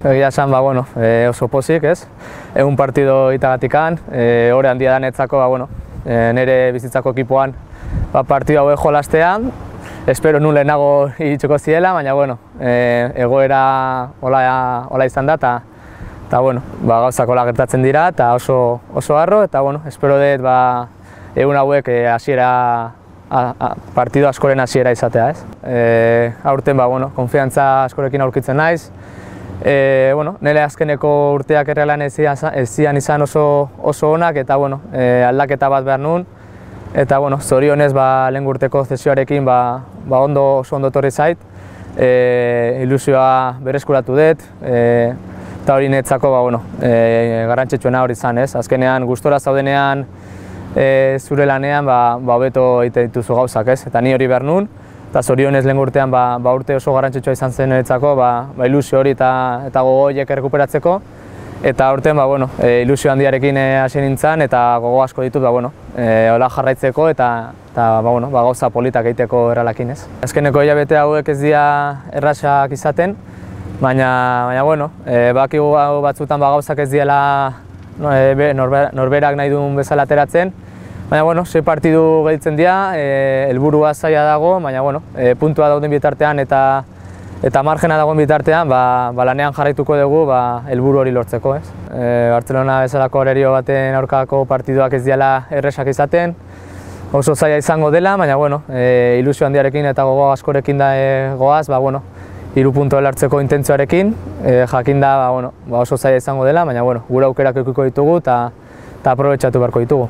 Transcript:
Egia esan, bueno, oso pozik, ez? Egun partido itagatikan, hori handia danetzako, nire bizitzako ekipoan partido hauek jolastean. Espero nun lehenago iritsiko ziela, baina, egoera hola izan da, eta gauzak hola gertatzen dira, eta oso harro, eta, espero dut, egun hauek partido askoren hasiera izatea, ez? Aurten, konfiantza askorekin aurkitzen naiz. Nire azkeneko urteak errealan ez zian izan oso onak, eta aldaketa bat behar nuen. Eta zorionez lehen urteko zesioarekin oso ondo etorri zait. Ilusioa berreskuratu dut, eta hori netzako garrantzitsuena hori izan, ez? Azkenean gustora zaudenean zure lanean hobeto egiten dituzu gauzak, ez? Eta ni hori behar nuen. Eta zorionez lehen urtean urte oso garrantzitsua izan zen niretzako, ilusio hori eta gogo horiek errekuperatzeko. Eta aurten ilusio handiarekin hasi nintzen eta gogo asko ditut hola jarraitzeko eta gauza politak egiteko erralakin, ez? Azkeneko hilabete hauek ez dira errasak izaten, baina bakigu batzutan gauzak ez diela norberak nahi duen bezala ateratzen. Baina, 6 partidu gelditzen dira, helburua zaila dago, baina, puntua dauden bitartean eta margena dagoen bitartean, lanean jarraituko dugu helburu hori lortzeko, ez? Bartzelona bezalako horerio baten aurkako partiduak ez diala erresak izaten, oso zaila izango dela, baina, ilusio handiarekin eta gogo askorekin da goaz, 3 puntu hartzeko intentzioarekin, jakin da, oso zaila izango dela, baina, gure aukerak edukiko ditugu eta aprobetxatu beharko ditugu.